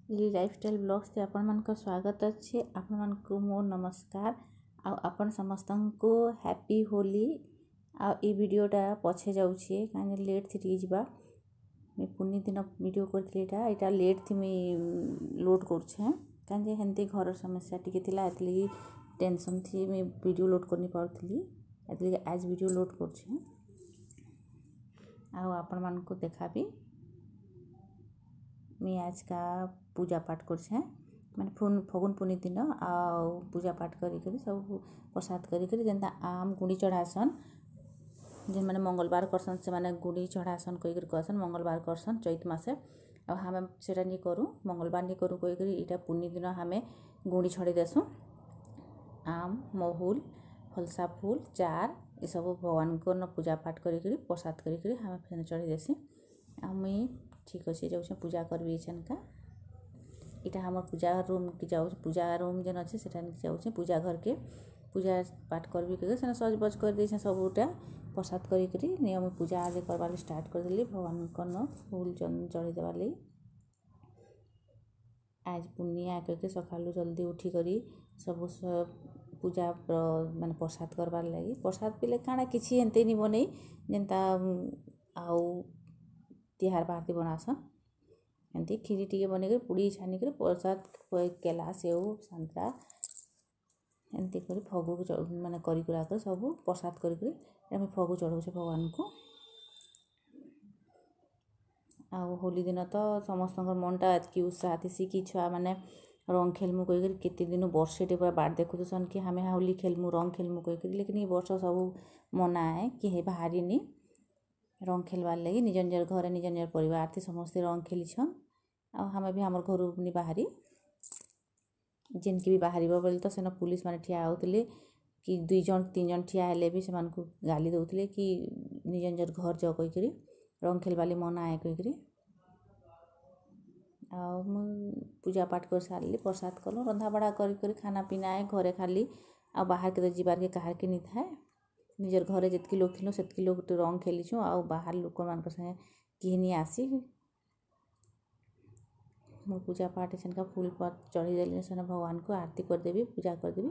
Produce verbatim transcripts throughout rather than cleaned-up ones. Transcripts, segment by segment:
ଲି lifestyle ବ୍ଲଗ୍ସରେ ଆପଣମାନଙ୍କ ସ୍ୱାଗତ ଅଛି। ଆପଣମାନଙ୍କୁ ମୋ ନମସ୍କାର ଆଉ ଆପଣ ସମସ୍ତଙ୍କୁ ହ୍ୟାପି ହୋଲି। ଆଉ ଏଇ ଭିଡ଼ିଓଟା ପଛେ ଯାଉଛି, କାହିଁକି ଲେଟ୍ ଥି ଟିକେ ଯିବା। ମୁଇଁ ପୁନି ଦିନ ଭିଡ଼ିଓ କରିଥିଲି, ଏଇଟା ଏଇଟା ଲେଟ୍ ଥି ମୁଇଁ ଲୋଡ଼୍ କରୁଛେଁ, କାହିଁକି ହେନ୍ତି ଘରର ସମସ୍ୟା ଟିକେ ଥିଲା, ଏଥିଲାଗି ଟେନସନ୍ ଥି ମୁଇଁ ଭିଡ଼ିଓ ଲୋଡ଼୍ କରିନି ପାରୁଥିଲି। ଏଥିଲାଗି ଆଜ୍ ଭିଡ଼ିଓ ଲୋଡ଼୍ କରୁଛେଁ ଆଉ ଆପଣମାନଙ୍କୁ ଦେଖାବି। ମୁଇଁ ଆଜକା ପୂଜା ପାଠ କରୁଛେଁ, ମାନେ ଫଗୁନ୍ ପୁନି ଦିନ, ଆଉ ପୂଜା ପାଠ କରିକରି ସବୁ ପ୍ରସାଦ କରିକରି ଯେନ୍ତା ଆମ୍ ଗୁଡ଼ି ଚଢ଼ାସନ୍, ଯେନ୍ମାନେ ମଙ୍ଗଳବାର କରସନ୍ ସେମାନେ ଗୁଡ଼ି ଚଢ଼ାସନ୍ କହିକରି କହେସନ୍। ମଙ୍ଗଳବାର କରସନ୍ ଚୈତ ମାସେ, ଆଉ ଆମେ ସେଟା ନି କରୁ, ମଙ୍ଗଳବାର ନି କରୁ କହିକରି ଏଇଟା ପୁନି ଦିନ ଆମେ ଗୁଡ଼ି ଛଡ଼େଇ ଦେସୁଁ। ଆମ୍, ମହୁଲ, ଫଲସା ଫୁଲ, ଚାର୍ ଏସବୁ ଭଗବାନଙ୍କର ପୂଜା ପାଠ କରିକରି ପ୍ରସାଦ କରିକରି ଆମେ ଫେନ୍ ଚଢ଼େଇ ଦେସି। ଆଉ ମୁଇଁ ଠିକ୍ ଅଛି ଯାଉଛେଁ ପୂଜା କରିବି ଏଛେନ୍କା। ଏଇଟା ଆମର୍ ପୂଜା ରୁମ୍କେ ଯାଉଛେ, ପୂଜା ରୁମ୍ ଯେନ୍ ଅଛି ସେଟା ଯାଉଛେ ପୂଜା ଘରକେ ପୂଜା ପାଠ କରିବି କହିକି। ସେନେ ସଜବଜ କରିଦେଇଛେଁ ସବୁଟା, ପ୍ରସାଦ କରିକରି ନିୟମ ପୂଜା ଆଜି କରବାର୍ ଲାଗି ଷ୍ଟାର୍ଟ କରିଦେଲି, ଭଗବାନଙ୍କନ ଫୁଲ୍ ଚଢ଼େଇ ଦେବାର୍ ଲାଗି। ଆଜ୍ ପୁନିଆ କହିକି ସକାଳୁ ଜଲ୍ଦି ଉଠିକରି ସବୁ ପୂଜା ମାନେ ପ୍ରସାଦ କରବାର୍ ଲାଗି। ପ୍ରସାଦ ପିଲେ କାଣା କିଛି ଏନ୍ତି ନି ବନେଇ, ଯେନ୍ତା ଆଉ ତିହାର ବାହାରତି ବନାସନ୍ ଏମିତି ଖିରି ଟିକେ ବନେଇକରି, ପୁଡ଼ି ଛାନିକରି ପ୍ରସାଦ, କେଲା, ସେଉ, ସାନ୍ତରା ଏମିତି କରି ଫଗୁ ମାନେ କରି କୁରା କରି ସବୁ ପ୍ରସାଦ କରିକରି ଆମେ ଫଗୁ ଚଢ଼ଉଛେ ଭଗବାନଙ୍କୁ। ଆଉ ହୋଲି ଦିନ ତ ସମସ୍ତଙ୍କର ମନଟା ଏତ୍କି ଉତ୍ସାହ ଥିସି କି ଛୁଆମାନେ ରଙ୍ଗ ଖେଲ୍ମୁ କହିକରି କେତେ ଦିନୁ ବର୍ଷେଟେ ପୁରା ବାଟ୍ ଦେଖୁଥିସନ୍ କି ଆମେ ହୋଲି ଖେଲ୍ମୁ, ରଙ୍ଗ ଖେଲ୍ମୁ କହିକରି। ଲେକିନ୍ ଇ ବର୍ଷ ସବୁ ମନା ଏ, କେହି ବାହାରିନି ରଙ୍ଗ ଖେଲ୍ବାର୍ ଲାଗି। ନିଜ ନିଜର ଘରେ ନିଜ ନିଜର ପରିବାର ଥି ସମସ୍ତେ ରଙ୍ଗ ଖେଲିଛନ୍, ଆଉ ଆମେ ବି ଆମର୍ ଘରୁ ନି ବାହାରି। ଯେନ୍କି ବି ବାହାରିବ ବୋଲେ ତ ସେନ ପୁଲିସ୍ ମାନେ ଠିଆ ହଉଥିଲେ କି ଦୁଇ ଜଣ ତିନି ଜଣ ଠିଆ ହେଲେ ବି ସେମାନଙ୍କୁ ଗାଲି ଦଉଥିଲେ କି ନିଜ ନିଜର ଘର୍ ଯାଅ କହିକରି, ରଙ୍ଗ ଖେଲ୍ବାର୍ ଲାଗି ମନା ଏ କହିକରି। ଆଉ ମୁଁ ପୂଜା ପାଠ କରି ସାରିଲି, ପ୍ରସାଦ କଲୁ, ରନ୍ଧାବଢ଼ା କରି କରି ଖାନା ପିନା ଏ ଘରେ ଖାଲି, ଆଉ ବାହାରକେ ତ ଯିବାର୍କେ କାହାର୍କେ ନି ଥାଏ। ନିଜର ଘରେ ଯେତ୍କି ଲୋକ୍ ଥିଲୁ ସେତ୍କି ଲୋକ୍ ରଙ୍ଗ ଖେଲିଛୁଁ, ଆଉ ବାହାର ଲୋକମାନଙ୍କ ସାଙ୍ଗେ କେହି ନି ଆସି। ମୁଁ ପୂଜା ପାଠ ସେନକା ଫୁଲ୍ ପତ୍ ଚଢ଼େଇ ଦେଲି, ସେନ ଭଗବାନଙ୍କୁ ଆରତି କରିଦେବି, ପୂଜା କରିଦେବି,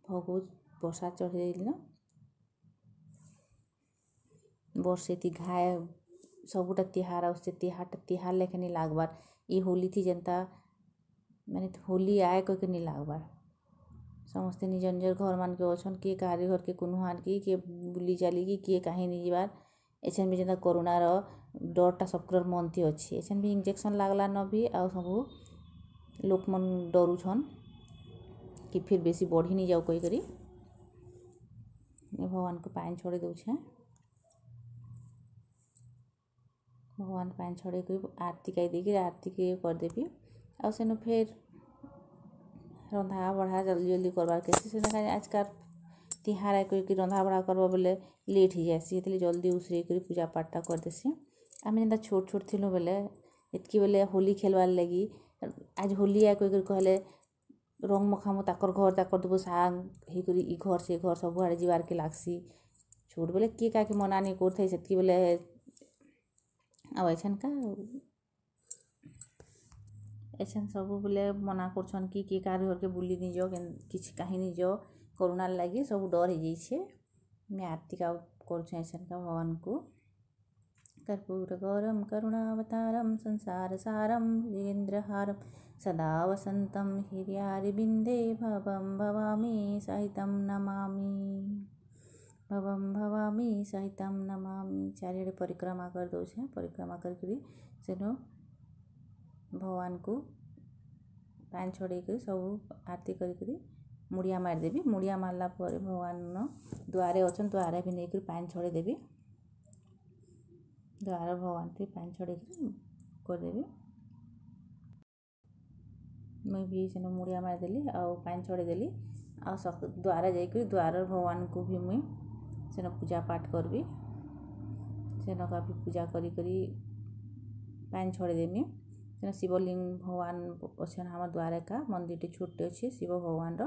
ଭୋଗ ପ୍ରସାଦ ଚଢ଼େଇ ଦେଲି। ବର୍ଷେତି ଘାଏ ସବୁଟା ତିହାର ଆସୁଛେ, ତିହାରଟା ତିହାର ଲେଖେ ନି ଲାଗ୍ବାର୍। ଇ ହୋଲି ଥି ଯେନ୍ତା ମାନେ ହୋଲି ଆଏ କହିକି ନି ଲାଗ୍ବାର୍। ସମସ୍ତେ ନିଜ ନିଜର ଘରମାନକେ ଅଛନ୍, କିଏ କାହାରି ଘରକେ କୁନୁହାର୍ କି କିଏ ବୁଲି ଚାଲିକି କିଏ କାହିଁ ନି ଯିବାର୍। ଏଛେନ୍ ବି ଯେନ୍ତା କରୋନାର ଡରଟା ସବକର୍ ମନ୍ଥି ଅଛି, ଏଛେନ୍ ବି ଇଞ୍ଜେକ୍ସନ୍ ଲାଗ୍ଲାନ ବି ଆଉ ସବୁ ଲୋକମନ୍ ଡରୁଛନ୍ କି ଫିର୍ ବେଶୀ ବଢ଼ି ନି ଯାଉ କହିକରି। ଭଗବାନଙ୍କୁ ପାଏନ୍ ଛଡ଼େଇ ଦଉଛେଁ, ଭଗବାନ ପାଏନ୍ ଛଡ଼େଇକରି ଆରତି ଗାଇ ଦେଇକିରି ଆରତି କରିଦେବି। ଆଉ ସେନୁ ଫେର୍ ରନ୍ଧା ବଢ଼ା ଜଲ୍ଦି ଜଲ୍ଦି କରବାର୍ କେସି। ସେନେ ଆଜକାଲ୍ ତିହାର କହିକି ରନ୍ଧା ବଢ଼ା କରବ ବେଲେ ଲେଟ୍ ହେଇଯାଏସି, ହେଥିଲାଗି ଜଲ୍ଦି ଉଷରେଇକରି ପୂଜା ପାଠଟା କରିଦେସି। ଆମେ ଯେନ୍ତା ଛୋଟ୍ ଛୋଟ୍ ଥିଲୁ ବେଲେ ଏତ୍କି ବେଲେ ହୋଲି ଖେଲ୍ବାର୍ ଲାଗି ଆଜ୍ ହୋଲି ଆଏ କହିକରି କହେଲେ ରଙ୍ଗ ମଖାମୁ ତାକର୍ ଘର୍ ତାକର୍ ଦବୁ ସାଙ୍ଗ୍ ହେଇକରି ଇ ଘର୍ ସେ ଘର୍ ସବୁଆଡ଼େ ଯିବାର୍କେ ଲାଗ୍ସି। ଛୋଟ୍ ବେଲେ କିଏ କାହାକେ ମନା ନି କରୁଥାଇ ସେତ୍କି ବେଲେ, ଆଉ ଏଛେନ୍କା ଏଛେନ୍ ସବୁବେଲେ ମନା କରୁଛନ୍ କି କିଏ କାହାରି ଘର୍କେ ବୁଲି ନି ଯାଅ, କିଛି କାହିଁ ନି ଯାଅ, କରୋନାର୍ ଲାଗି ସବୁ ଡର୍ ହେଇଯାଇଛେ। ମୁଇଁ ଆରତି କରୁଛେଁ ଏଛେନ୍କା ଭଗବାନଙ୍କୁ। कर्पूरगौरं करुणावतारं संसारसारं भुजगेन्द्रहारं सदा वसन्तं हृदयारविन्दे भवं भवामि सहितं नमामि, भवं भवामि सहितं नमामि। ଚାରିଆଡ଼େ ପରିକ୍ରମା କରିଦେଉଛେଁ, ପରିକ୍ରମା କରିକରି ସେନୁ ଭଗବାନଙ୍କୁ ପାଏନ୍ ଛଡ଼େଇକରି ସବୁ ଆରତି କରିକରି ମୁଡ଼ିଆ ମାରିଦେବି। ମୁଡ଼ିଆ ମାରିଲା ପରେ ଭଗବାନ ଦୁଆରେ ଅଛନ୍, ଦୁଆରେ ବି ନେଇକରି ପାଏନ୍ ଛଡ଼େଇଦେବି, ଦ୍ୱାର ଭଗବାନକେ ପାଏନ୍ ଛଡ଼େଇକରି କରିଦେବି। ମୁଇଁ ବି ସେନୁ ମୁଡ଼ିଆ ମାରିଦେଲି ଆଉ ପାଏନ୍ ଛଡ଼େଇଦେଲି, ଆଉ ଦ୍ୱାରେ ଯାଇକରି ଦ୍ୱାର ଭଗବାନଙ୍କୁ ବି ମୁଇଁ ସେନ ପୂଜା ପାଠ କରିବି। ସେନକା ବି ପୂଜା କରି କରି ପାଏନ୍ ଛଡ଼େଇଦେମି। ସେନ ଶିବଲିଙ୍ଗ ଭଗବାନ ଅଛନ୍ ଆମର୍ ଦ୍ୱାରେ ଏକା ମନ୍ଦିରଟେ ଛୋଟ୍ଟେ ଅଛି ଶିବ ଭଗବାନର,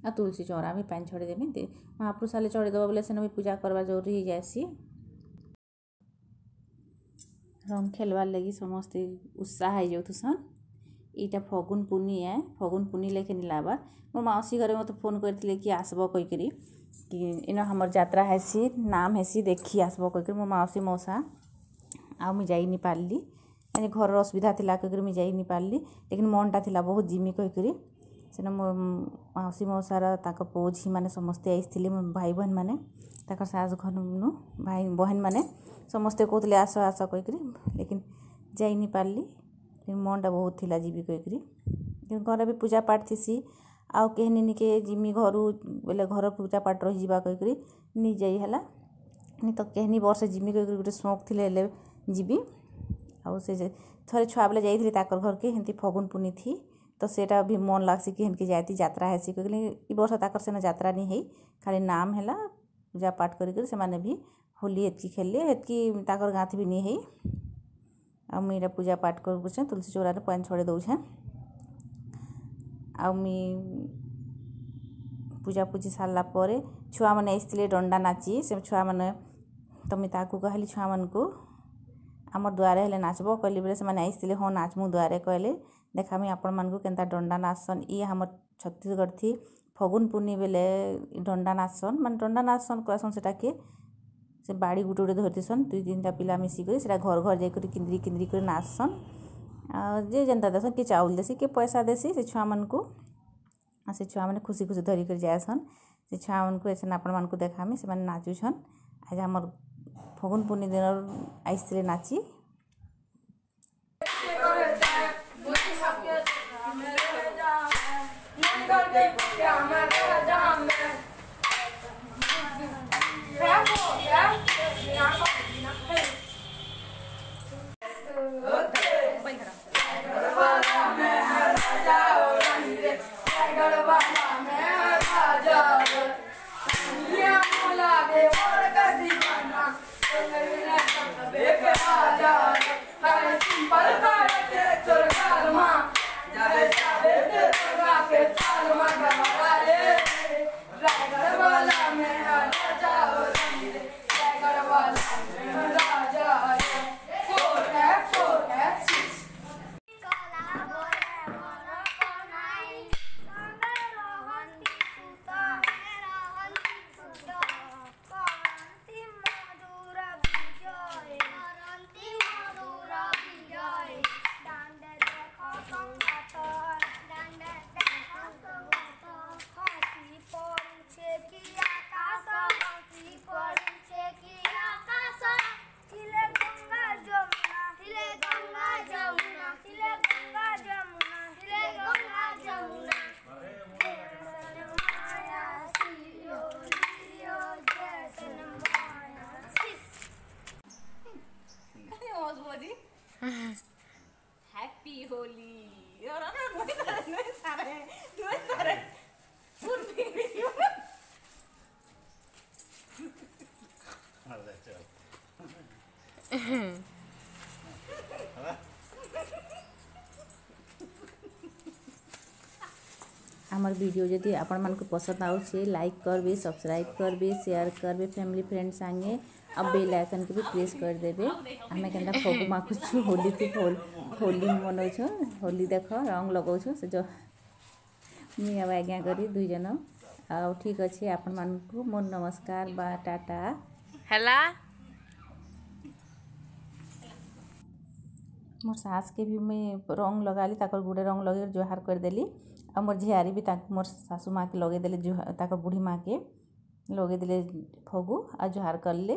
ଆଉ ତୁଳସୀ ଚଉରା ବି ପାଏନ୍ ଛଡ଼େଇଦେମି। ମହାପ୍ରଭୁ ସାଲେ ଚଢ଼େଇଦେବ ବେଲେ ସେନ ବି ପୂଜା କରବା ଜରୁରୀ ହେଇଯାଏସି। ରଙ୍ଗ ଖେଲବାର୍ ଲାଗି ସମସ୍ତେ ଉତ୍ସାହ ହେଇଯାଉଥିସନ୍। ଏଇଟା ଫଗୁନ୍ ପୁନି ଏ, ଫଗୁନ୍ ପୁନି ଲେଖେ ନି ଲାଗ୍ବାର୍। ମୋର୍ ମାଉସୀ ଘରେ ମୋତେ ଫୋନ୍ କରିଥିଲେ କି ଆସ୍ବ କହିକରି, କି ଇନ ଆମର୍ ଯାତ୍ରା ହେସି, ନାମ୍ ହେସି, ଦେଖି ଆସ୍ବ କହିକରି ମୋ ମାଉସୀ ମଉସା। ଆଉ ମୁଇଁ ଯାଇ ନି ପାର୍ଲି, ଘରର ଅସୁବିଧା ଥିଲା କହିକରି ମୁଇଁ ଯାଇ ନି ପାର୍ଲି। ଲେକିନ୍ ମନ୍ଟା ଥିଲା ବହୁତ ଜିମି କହିକରି। ସେନ ମୋର୍ ମାଉସୀ ମଉସାର ତାଙ୍କ ପୁଅ ଝିଅମାନେ ସମସ୍ତେ ଆସିଥିଲେ, ମୋ ଭାଇ ବହେନ୍ମାନେ, ତାଙ୍କର ଶାଶୁ ଘରନୁ ଭାଇ ବହେନ୍ମାନେ ସମସ୍ତେ କହୁଥିଲେ ଆସ ଆସ କହିକରି, ଲେକିନ୍ ଯାଇ ନି ପାର୍ଲି। ମନ୍ଟା ବହୁତ ଥିଲା ଯିବି କହିକରି। ଘରେ ବି ପୂଜା ପାଠ ଥିସି, ଆଉ କେହି ନିକେ ଜିମି ଘରୁ ବେଲେ ଘର ପୂଜା ପାଠ ରହିଯିବା କହିକରି ନି ଯାଇ ହେଲା। ନି ତ କେହନି ବର୍ଷେ ଜିମି କହିକରି ଗୋଟେ ସଉକ୍ ଥିଲେ ହେଲେ ଯିବି। ଆଉ ସେ ଥରେ ଛୁଆ ବେଲେ ଯାଇଥିଲି ତାକର୍ ଘରକେ, ହେନ୍ତି ଫଗୁନ୍ ପୁନି ଥି ତ ସେଟା ବି ମନ୍ ଲାଗ୍ସି କି ହେନ୍କି ଯାଏତି ଯାତ୍ରା ହେସି କହିକରି। ଇ ବର୍ଷ ତାକର୍ ସେନ ଯାତ୍ରା ନି ହେଇ, ଖାଲି ନାମ୍ ହେଲା। ପୂଜା ପାଠ କରିକରି ସେମାନେ ବି ହୋଲି ହେତ୍କି ଖେଲ୍ଲେ, ହେତ୍କି ତାକର୍ ଗାଁଥି ବି ନି ହେଇ। ଆଉ ମୁଇଁ ଏଇଟା ପୂଜା ପାଠ କରୁଛେଁ, ତୁଳସୀ ଚଉରାରେ ପାଏନ୍ ଛଡ଼େଇ ଦଉଛେଁ। ଆଉ ମୁଇଁ ପୂଜା ପୂଜି ସାରିଲା ପରେ ଛୁଆମାନେ ଆସିଥିଲେ ଡଣ୍ଡା ନାଚି। ସେ ଛୁଆମାନେ ତ ମୁଇଁ ତାକୁ କହିଲି ଛୁଆମାନଙ୍କୁ, ଆମର୍ ଦୁଆରେ ହେଲେ ନାଚ୍ବ କହିଲି ବେଲେ ସେମାନେ ଆସିଥିଲେ, ହଁ ନାଚ୍ମୁ ଦୁଆରେ କହିଲେ। ଦେଖାମି ଆପଣମାନଙ୍କୁ କେନ୍ତା ଡଣ୍ଡା ନାଚ୍ସନ୍। ଇ ଆମର୍ ଛତିଶଗଡ଼ ଥି ଫଗୁନ୍ ପୁନି ବେଲେ ଡଣ୍ଡା ନାଚ୍ସନ୍, ମାନେ ଡଣ୍ଡା ନାଚ୍ସନ୍ କହେସନ୍ ସେଟାକେ। ସେ ବାଡ଼ି ଗୁଟେ ଗୁଟେ ଧରିଥିସନ୍ ଦୁଇ ତିନିଟା ପିଲା ମିଶିକରି, ସେଟା ଘର୍ ଘର୍ ଯାଇକରି କିନ୍ଦ୍ରି କିନ୍ଦ୍ରି କରି ନାଚ୍ସନ୍। ଆଉ ଯିଏ ଯେନ୍ତା ଦେସନ୍, କିଏ ଚାଉଲ୍ ଦେସି, କିଏ ପଇସା ଦେସି ସେ ଛୁଆମାନଙ୍କୁ। ଆଉ ସେ ଛୁଆମାନେ ଖୁସି ଖୁସି ଧରିକରି ଯାଏସନ୍। ସେ ଛୁଆମାନଙ୍କୁ ଏଛେନ୍ ଆପଣମାନଙ୍କୁ ଦେଖାମି, ସେମାନେ ନାଚୁଛନ୍। ଆଜି ଆମର୍ ଫଗୁନ୍ ପୁନି ଦିନର୍ ଆସିଥିଲେ ନାଚି। हैप्पी होली। ଆମର ଭିଡ଼ିଓ ଯଦି ଆପଣମାନଙ୍କୁ ପସନ୍ଦ ଆଉଛେ, ଲାଇକ୍ କରବେ, ସବସ୍କ୍ରାଇବ୍ କରବେ, ସେୟାର କରବେ ଫ୍ୟାମିଲି ଫ୍ରେଣ୍ଡ ସାଙ୍ଗେ, ଆଉ ବେଲ୍ ଆଇକନ୍କେ ବି ପ୍ରେସ୍ କରିଦେବେ। ଆମେ କେନ୍ତା ଫଗୁ ମାଖୁଛୁ, ହୋଲି ହୋଲି ମନଉଛୁ, ହୋଲି ଦେଖ ରଙ୍ଗ ଲଗାଉଛୁ ସେ ଯୋ ମୁଇଁ ଆଉ ଆଜ୍ଞା କରି ଦୁଇ ଜଣ। ଆଉ ଠିକ୍ ଅଛି, ଆପଣମାନଙ୍କୁ ମୋର ନମସ୍କାର ବା ଟାଟା। ହେଲା। ମୋର୍ ଶାଶ୍କେ ବି ମୁଇଁ ରଙ୍ଗ ଲଗାଲି, ତାକର୍ ଗୁଡ଼େ ରଙ୍ଗ ଲଗେଇ ଜୁହାର କରିଦେଲି। ଆଉ ମୋର୍ ଝିଆରୀ ବି ତାଙ୍କୁ ମୋର୍ ଶାଶୁ ମାଆକେ ଲଗେଇଦେଲେ, ତାକର୍ ବୁଢ଼ୀ ମାଆକେ ଲଗେଇଦେଲେ ଫଗୁ ଆଉ ଜୁହାର କଲେ।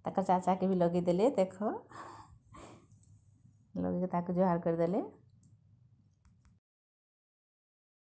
ତାକର୍ ଚାଚାକେ ବି ଲଗେଇଦେଲେ, ଦେଖ, ଲଗେଇକି ତାକୁ ଜୁହାର କରିଦେଲେ।